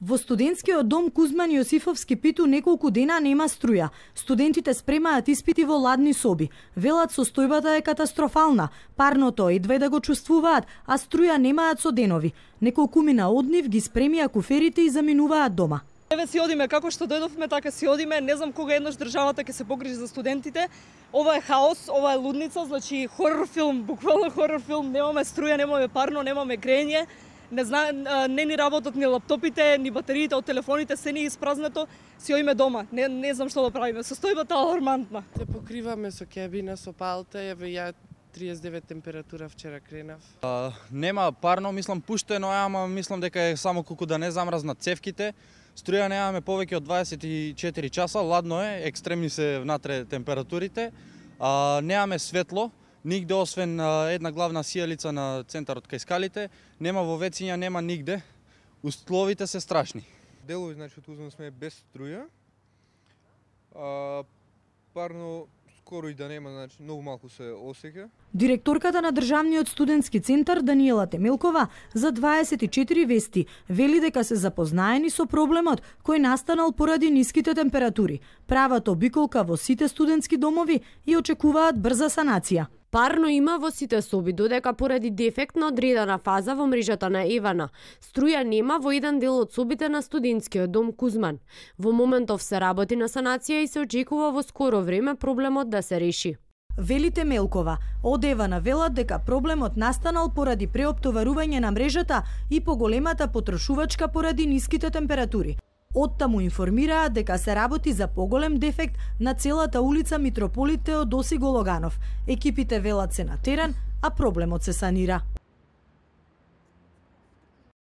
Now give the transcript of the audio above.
Во студентскиот дом Кузман Јосифовски Питу неколку дена нема струја. Студентите спремаат испити во ладни соби. Велат состојбата е катастрофална. Парното едва да го чувствуваат, а струја немаат со денови. Неколкумина од нив ги спремија куферите и заминуваат дома. Еве си одиме како што дојдовме, така си одиме. Не знам кога еднаш државата ќе се погрижи за студентите. Ова е хаос, ова е лудница, значи хорор филм, буквално хорор филм. Немаме струја, немаме парно, немаме грење. Не ни работат ни лаптопите, ни батериите од телефоните, се ни испразнето, си оиме дома. Не знам што да правиме. Состојбата е алармантна. Се покриваме со кебина, со палта, еве ја 39 температура вчера кренав. Нема парно, мислам пуштено е, ама мислам дека е само колку да не замрзнат цевките. Струја немаме повеќе од 24 часа, ладно е, екстремни се внатре температурите. Немаме светло, нигде освен една главна сијалица на центарот кај скалите, нема во вециња, нема нигде. Условите се страшни. Делови, значи, од Кузман сме без струја. Парно скоро и да нема, значи, многу малку се осеќа. Директорката на Државниот студентски центар Даниела Темелкова за 24 вести вели дека се запознаени со проблемот кој настанал поради ниските температури. Прават обиколка во сите студентски домови и очекуваат брза санација. Парно има во сите соби, додека поради дефект на одредена фаза во мрежата на Евана. Струја нема во еден дел од собите на студентскиот дом Кузман. Во моментов се работи на санација и се очекува во скоро време проблемот да се реши. Вели Темелкова, од Евана велат дека проблемот настанал поради преоптоварување на мрежата и поголемата потрошувачка поради ниските температури. Оттаму информираат дека се работи за поголем дефект на целата улица Митрополит Теодоси Гологанов. Екипите велат се на терен, а проблемот се санира.